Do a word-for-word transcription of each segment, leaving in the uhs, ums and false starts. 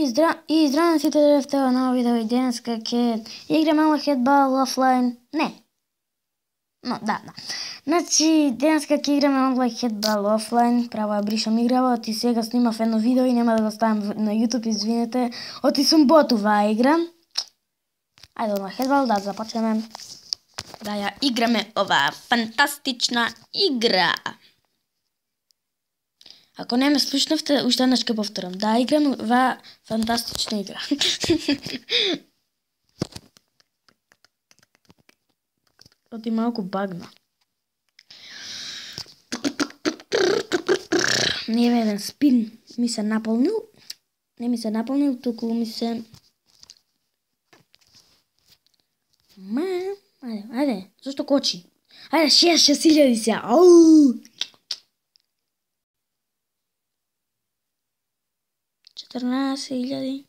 И здра... и здравейте в това ново видео и денеска ќе играме хедбал офлайн. Не. Но, да, да. Значи, денеска ќе играме онлайн хедбал офлайн. Право ја бришам играва, оти сега снимав едно видео и нема да го ставам на YouTube, извинете. Оти сум бот оваа игра. Ајде онлайн хедбал, да започнеме. Да ја играме оваа фантастична игра. Ако не ме слушнавте, уште еднаш ќе повторам. Да, играм оваа фантастична игра. Оти малку багна. Не е еден спин ми се наполнил. Не ми се наполнил, туку ми се... Ма, ајде, ајде, зашто кочи? Ајде, шест, шест илјади сега. Ау! четрнаесет илјади.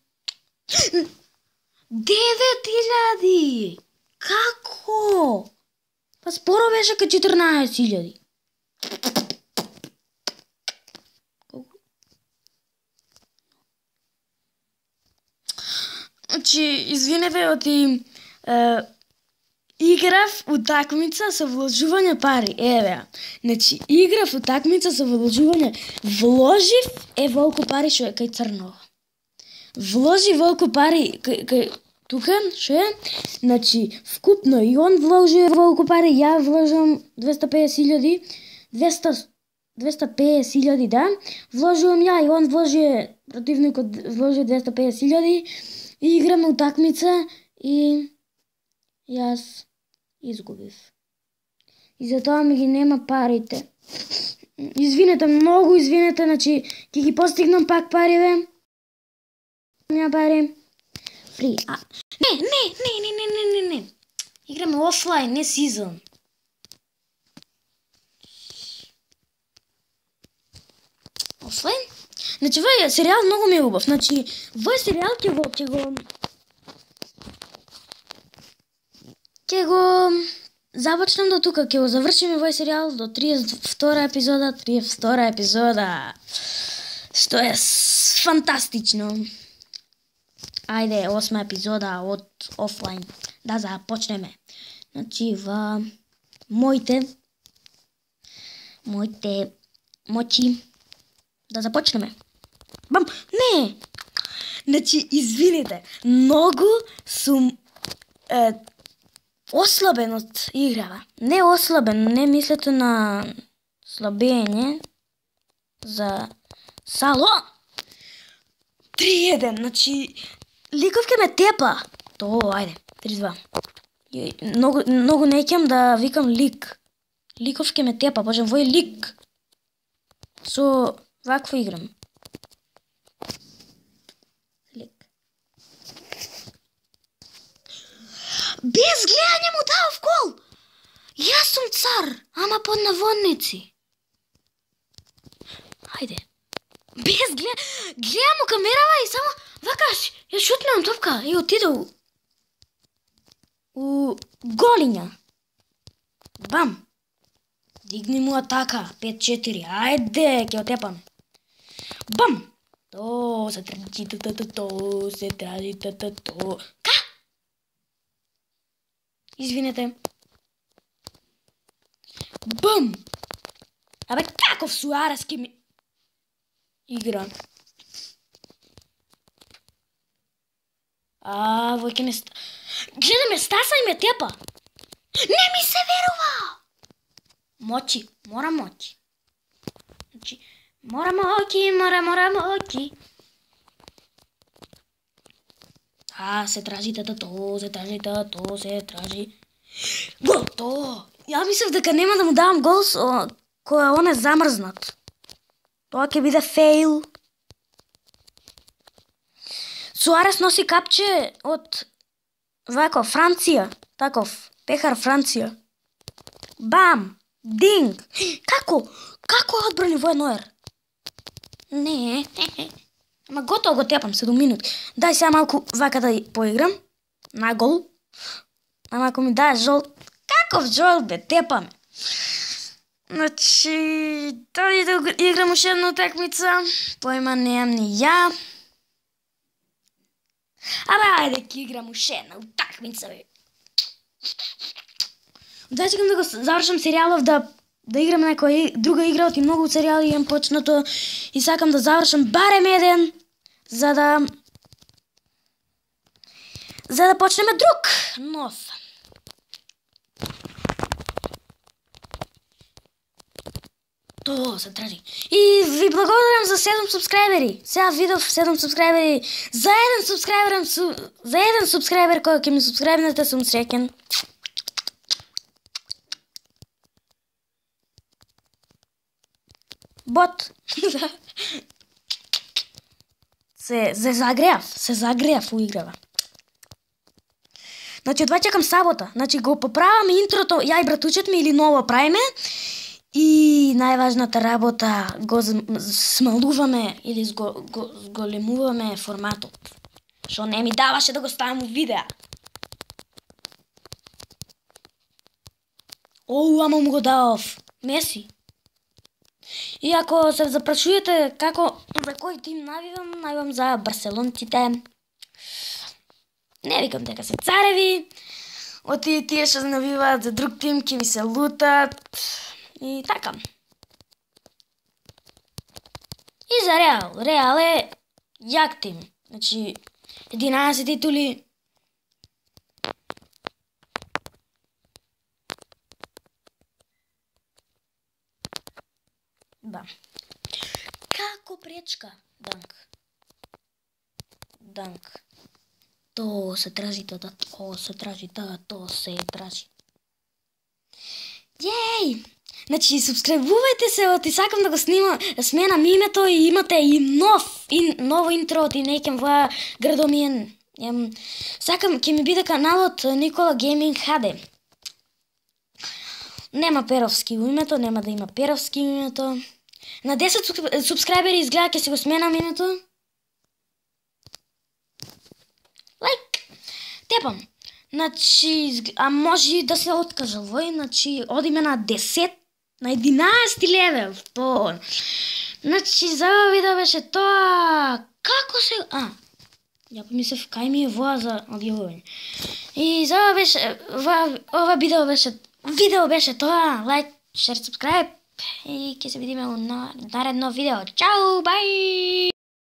девет илјади! Како? Па споро беше ка четрнаесет илјади. Значи, извинете, оти е, играв утакмица со вложување пари. Еве. Значи, играв утакмица со вложување. Вложив е волку пари што е кај Црнова. Вложи волку пари кај, кај тука, што е? Значи, вкупно и он вложи волку пари, ја вложам двеста педесет илјади, двеста педесет илјади, да. Вложувам ја и он вложи, противникот вложи двеста педесет илјади. И играме утакмица и јас изгубив. И затоа ми ги нема парите. Извинете, многу извинете, значи ќе ги постигнам пак париве. Нема пари. Фри. А, не, не, не, не, не, не, не, не. Играме офлайн, не сезон. Офлайн? Значи, овој серијал многу ми е убав. Значи, овој серијал ќе го ќе го ќе го започнам до тука, ќе го завршиме овој серијал до триесет и втора епизода, триесет и втора епизода. Што е фантастично. Ајде, осма епизода од офлайн. Да започнеме. Значи, во моите моите моќи да започнеме. Бам, не! Значи, извините, многу сум е, ослабен од играва. Не ослабен, не мислете на слабење за сало. три еден, значи, ликов ке ме тепа. То, ајде, три два. Многу, многу неќам да викам лик. Ликов ке ме тепа, боже, вој лик. Со вакво играм. Лик. Без гледање му дав гол. Јас сум цар, ама под наводници. Ајде. Без глед... Гледам му камерава и само вакаш, ја шутнам топка и отиде у... у голиња. Бам. Дигни му атака, пет четири, ајде, ќе отепам. Бам! То се тражи, то, то, то, то, се тражи, то, то, то. Ка? Извинете. Бам! Абе, каков Суарес ке ми... игра. А, вој ке ме... Гледа ме стаса и ме тепа. Не ми се верува! Моќи, мора моќи. Значи, мора моќи, мора, мора моќи. А, се тражи тато, то, се тражи тато, то, се тражи. Гол, то! Ја мислев дека нема да му давам гол со која он е замрзнат. Тоа ќе биде фейл. Суарес носи капче од вако Франција, таков пехар Франција. Бам! Динг! Како? Како одбрани вој Ноер? Не. Ама готово го тепам, седум минути. Дај сега малку вака да поиграм. На гол. Ама ако ми даеш жол... Каков жол бе, тепаме. Значи, дали да играм уште една утакмица, поима немам ни ја. ајде ќе играм уште една утакмица бе. Да чекам да го завршам серијалов, да да играм некоја друга игра, оти многу серијали имам почнато и сакам да завршам барем еден за да за да почнеме друг нов. То се тражи. И ви благодарам за седум субскрајбери. Сега видов седум субскрајбери. За еден субскрајбер, за еден субскрајбер кој ќе ми субскрајбнете сум среќен. Бот. се се загреав, се загреав у играва. Значи, одва чекам сабота. Значи, го поправаме интрото, ја и братучет ми или ново правиме. И најважната работа, го смалуваме или го, го, зголемуваме форматот. Шо не ми даваше да го ставам у видеа. Оу, ама му го давав. Меси. И ако се запрашувате како, за кој тим навивам, навивам за барселонците. Не викам дека се цареви. Оти тие што навиваат за друг тим ќе ми се лутат. И така. И за Реал. Реал е јак тим. Значи, единаесет титули. Да. Како пречка? Данк. Данк. То се тражи, то, то се тражи, то, то се тражи. Јеј! Значи, субскрајбувајте се, оти сакам да го снимам, сменам името и имате и нов, и ново интро, оти некем во градомиен. Сакам, ќе ми биде каналот Никола Гейминг ха де. Нема Перовски у името, нема да има Перовски у името. На десет субскрајбери изгледа ќе си го сменам името. Лайк! Тепам. Значи, а може да се откажа вој, значи, одиме на десет, на единаесети левел. То. Значи, за ова видео беше тоа. Како се... А, ја помислев, кај ми е воа за одјавување. И за ова беше... Ова, ова видео беше... Видео беше тоа. Лайк, шер, субскрайб. И ќе се видиме у наредно видео. Чао, бај!